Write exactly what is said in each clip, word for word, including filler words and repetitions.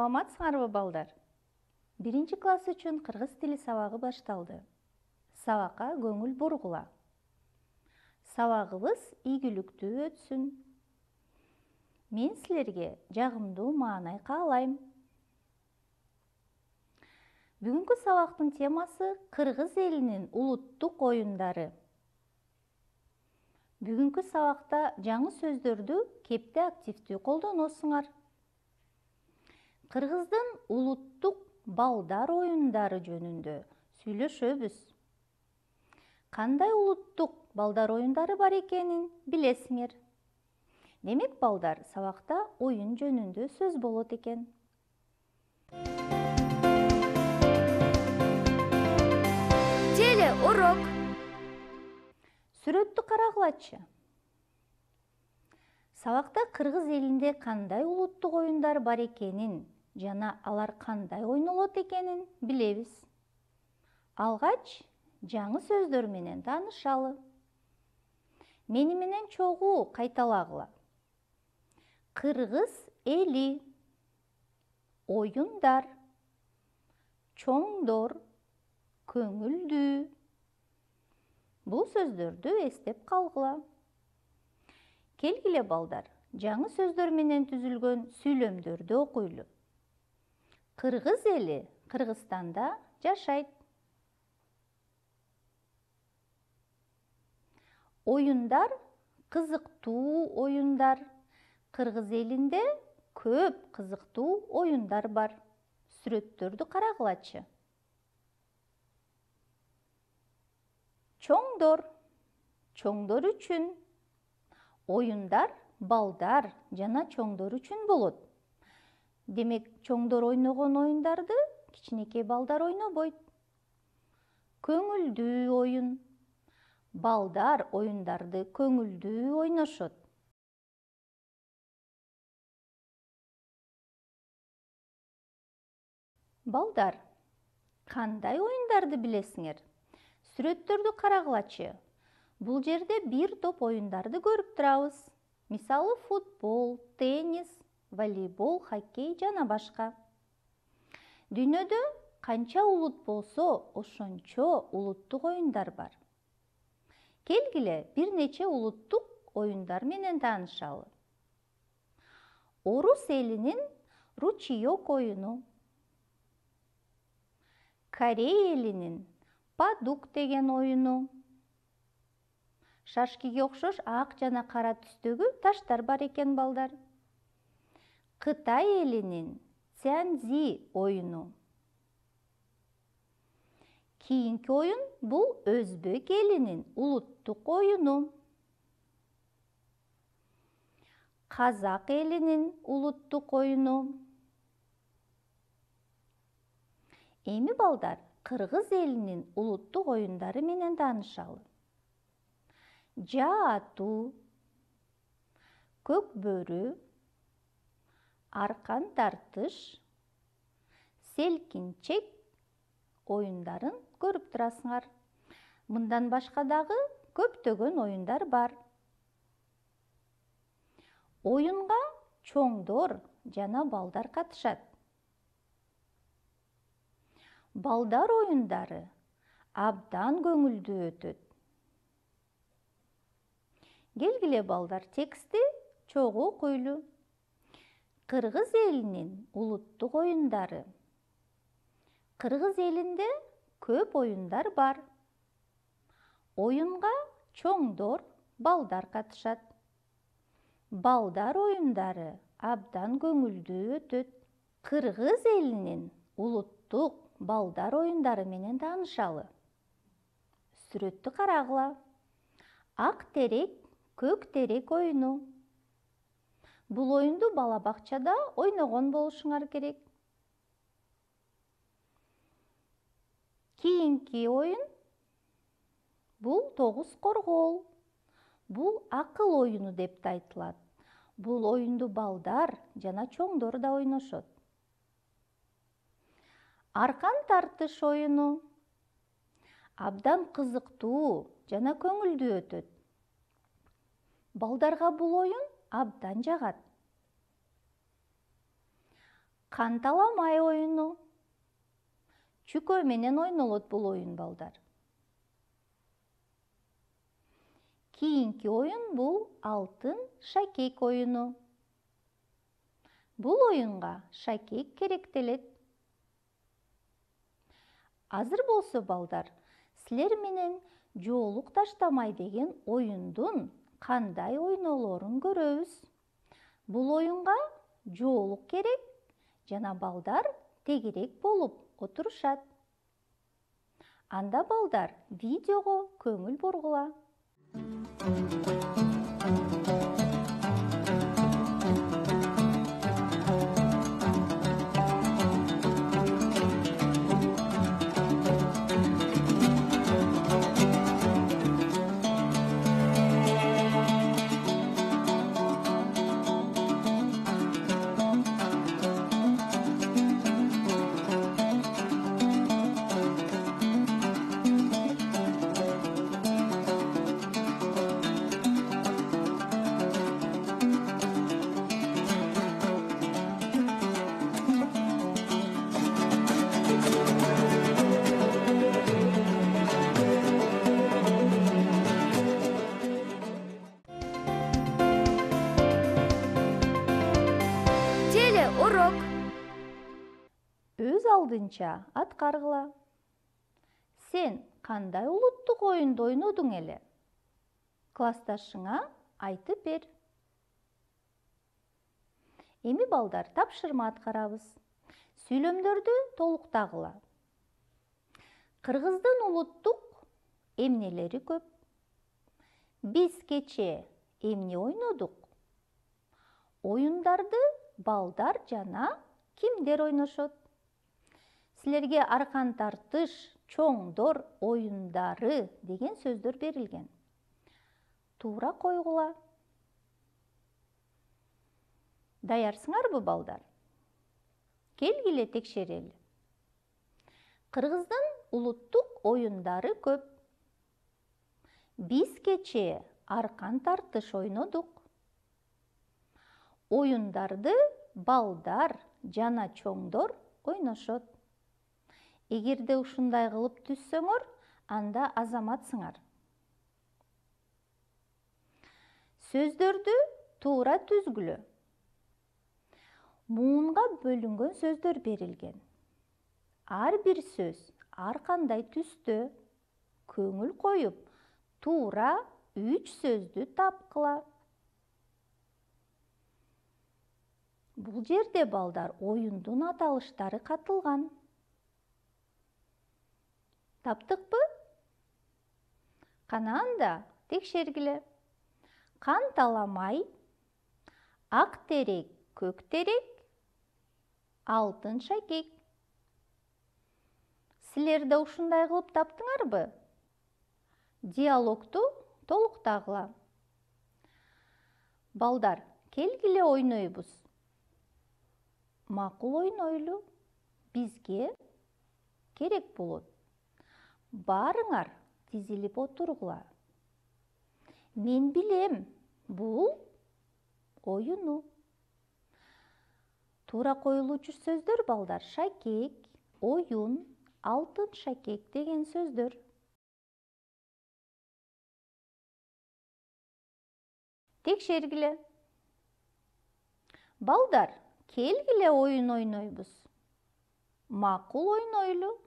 Саламатсыңарбы балдар? Биринчи класс үчүн кыргыз тили сабагы башталды. Сабакка көңүл бургула. Сабагыбыз ийгиликтүү өтсүн. Мен силерге жагымдуу маанай каалайм. Бүгүнкү сабактын темасы кыргыз элинин улуттук оюндары. Бүгүнкү сабакта жаңы сөздөрдү кепте активдүү колдоносуңар. Кыргыздын улуттук балдар оюндары жөнүндө сүйлөшөбүз. Кандай улуттук балдар оюндары бар экенин билесиңер. Демек балдар, сабакта оюн жөнүндө сөз болот экен. Телеурок. Сүрөттү карагылачы. Сабакта кыргыз элинде кандай улуттук оюндар бар экенин жана алар кандай ойнолот экенин билебиз. Алгач жаңы сөздөр менен таанышалы. Мени менен чогуу кайталагыла. Кыргыз эли, оюндар, чоңдор, көңүлдүү. Бул сөздөрдү эстеп калгыла. Келгиле балдар, жаңы сөздөр менен түзүлгөн сүйлөмдөрдү окуйлу. Кыргыз эли Кыргызстанда жашайт. Оюндар кызыктуу оюндар. Кыргыз элинде көп кызыктуу оюндар бар. Сүрөттөрдү карагылачы. Чоңдор. Чоңдор үчүн. Оюндар балдар жана чоңдор үчүн болот. Демек, чоңдор ойногон оюндарды кичинекей балдар ойнобойт. Көңүлдүү оюн. Балдар оюндарды көңүлдүү ойношот. Балдар, кандай оюндарды билесиңер? Сүрөттөрдү карагылачы. Бул жерде бир топ оюндарды көрүп турабыз. Мисалы, футбол, теннис, волейбол, хоккей жана башка. Дүйнөдө канча улут болсо, ошончо улуттук оюндар бар. Келгиле, бир нече улуттук оюндар менен таанышалы. Орус элинин ручеёк оюну. Корей элинин падук деген оюну. Шашкиге окшош ак жана кара түстөгү таштар бар экен балдар. Кытай элинин цзянзи оюну. Кийинки оюн бул Өзбек элинин улуттук оюну. Казак элинин улуттук оюну. Эми балдар, кыргыз элинин улуттук оюндары менен таанышалы. Жаа атуу, көк бөрү, аркан тартыш, селкинчек оюндарын көрүп турасыңар. Мындан башка дагы көптөгөн оюндар бар. Оюнга чоңдор жана балдар катышат. Балдар оюндары абдан көңүлдүү өтөт. Келгиле балдар, текстти чогуу окуйлу. Кыргыз элинин улуттук оюндары. Кыргыз элинде көп оюндар бар. Оюнга чоңдор, балдар катышат. Балдар оюндары абдан көңүлдүү өтөт. Кыргыз элинин улуттук балдар оюндары менен таанышалы. Сүрөттү карагыла. Ак терек, көк терек оюну. Бул оюнду бала бакчада ойногон болушуңар керек. Кийинки оюн бул тогуз коргоол. Бул акыл оюну деп да айтылат. Бул оюнду балдар жана чоңдор да ойношот. Аркан тартыш оюну абдан кызыктуу жана көңүлдүү өтөт. Балдарга бул оюн абдан жагат. Канталамай оюну. Чүкө менен ойнолот бул оюн, балдар. Кийинки оюн бул алтын шакек оюну. Бул оюнга шакек керектелет. Азыр болсо, балдар, силер менен жоолук таштамай деген оюндун кандай ойнолорун көрөбүз. Бул оюнга жоолук керек жана балдар тегерек болуп отурушат. Анда, балдар, видеого көңүл бургула. Урок. Өз алдынча аткаргыла. Сен кандай улуттук оюнду ойнодуң эле? Классташыңа айтып бер. Эми, балдар, тапшырма аткарабыз. Сүйлөмдөрдү толуктагыла. Кыргыздын улуттук эмнелери көп? Биз кечээ эмне ойнодук? Оюндарды балдар жана кимдер ойношот? Силерге аркан тартыш, чоңдор оюндары деген сөздөр берилген. Туура койгула. Даярсыңарбы, балдар? Келгиле текшерели. Кыргыздын улуттук оюндары көп. Биз кечээ аркан тартыш ойнодук. Оюндарды балдар жана чоңдор ойношот. Эгерде ушундай кылып түзсөңөр, анда азаматсыңар. Сөздөрдү туура түзгүлө. Муунга бөлүнгөн сөздөр берилген. Ар бир сөз ар кандай түстө. Көңүл коюп, туура үч сөздү тапкыла. Бул жерде, балдар, оюндун аталыштары катылган. Таптыкпы? Кана анда текшергиле. Канталамай, ак терек, көк терек, алтын шакек. Силер да ушундай кылып таптыңарбы? Диалогту толуктагыла. Балдар, келгиле ойнойбуз. Макул ойнойлу. Бизге керек болот. Барыңар тизилип отургула. Мен билем, бул оюну. Туура коюлуучу сөздөр, балдар, шакек, оюн, алтын шакек деген сөздөр. Текшергиле. Балдар, келгиле оюн ойнойбуз. Макул ойнойлу.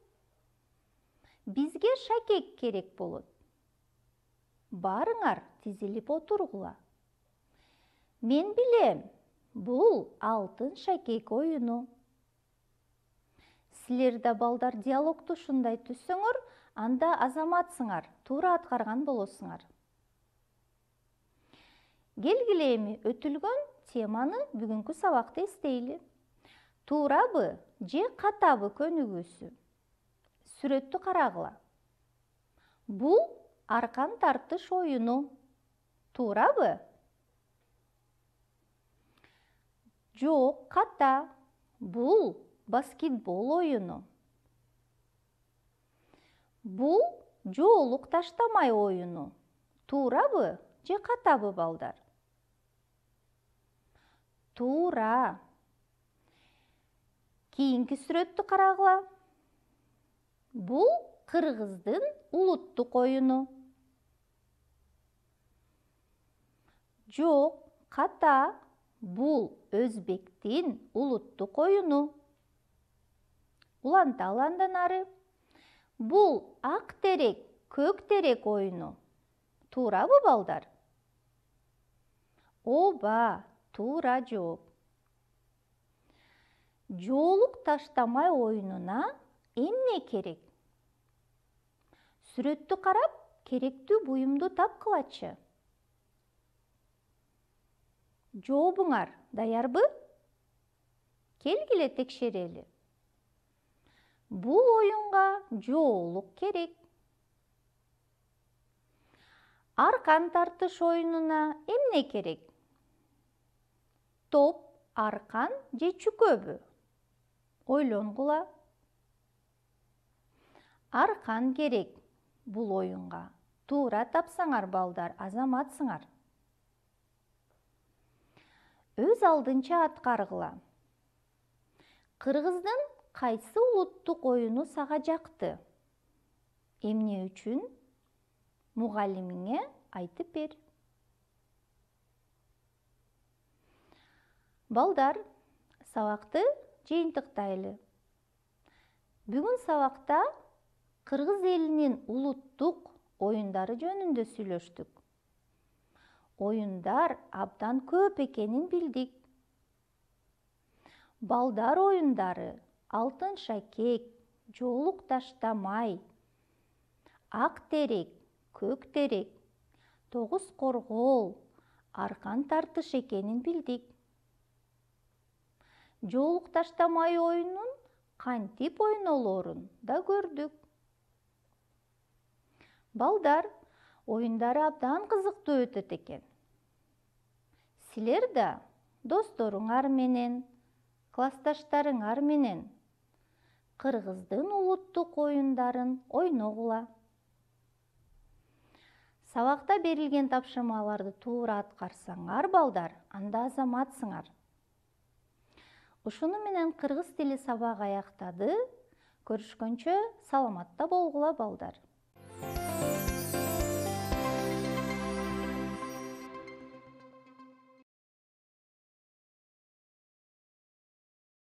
Бизге шакек керек болот. Барыңар тизилип отургула. Мен билем, бул алтын шакек оюну. Силер да, балдар, диалогту ушундай түзсөңөр, анда азаматсыңар, туура аткарган болосуңар. Келгиле эми өтүлгөн теманы бүгүнкү сабакта эстейли. Туурабы же катабы көнүгүүсү? Сүрөттү карагыла. Бул аркан тартыш оюну. Туурабы? Жок, ката. Бул баскетбол оюну. Бул жоолук таштамай оюну. Туурабы же катабы, балдар? Туура. Кийинки сүрөттү карагыла. Бул кыргыздын улуттук оюну. Жок, ката. Бул өзбектин улуттук оюну. Уланталы андан ары. Бул ак терек, көк терек оюну. Туурабы, балдар? Ооба, туура жооп. Жоолук таштамай оюнуна эмне керек? Сүрөттү карап, керектүү буюмду тапкылачы. Жообуңар даярбы? Келгиле текшерели. Бул оюнга жоолук керек. Аркан тартыш оюнуна эмне керек? Топ, аркан же чүкөбү? Ойлонгула. Аркан керек бул оюнга. Туура тапсаңар, балдар, азаматсыңар. Өз алдынча аткаргыла. Кыргыздын кайсы улуттук оюну сага жакты? Эмне үчүн? Мугалимиңе айтып бер. Балдар, сабакты жыйынтыктайлы. Бүгүн сабакта кыргыз элинин улуттук оюндары жөнүндө сүйлөштүк. Оюндар абдан көп экенин билдик. Балдар оюндары алтын шакек, жоолук таштамай, ак терек, көк терек, тогуз коргол, аркан тартыш экенин билдик. Жоолук таштамай оюнун кантип ойнолорун да көрдүк. Балдар, оюндары абдан кызыктуу өтөт экен. Силер да досторуңар менен, классташтарыңар менен кыргыздын улуттук оюндарын ойногула. Сабакта берилген тапшырмаларды туура аткарсаңар, балдар, анда азаматсыңар. Ушуну менен кыргыз тили сабагы аяктады. Көрүшкөнчө саламатта болгула, балдар.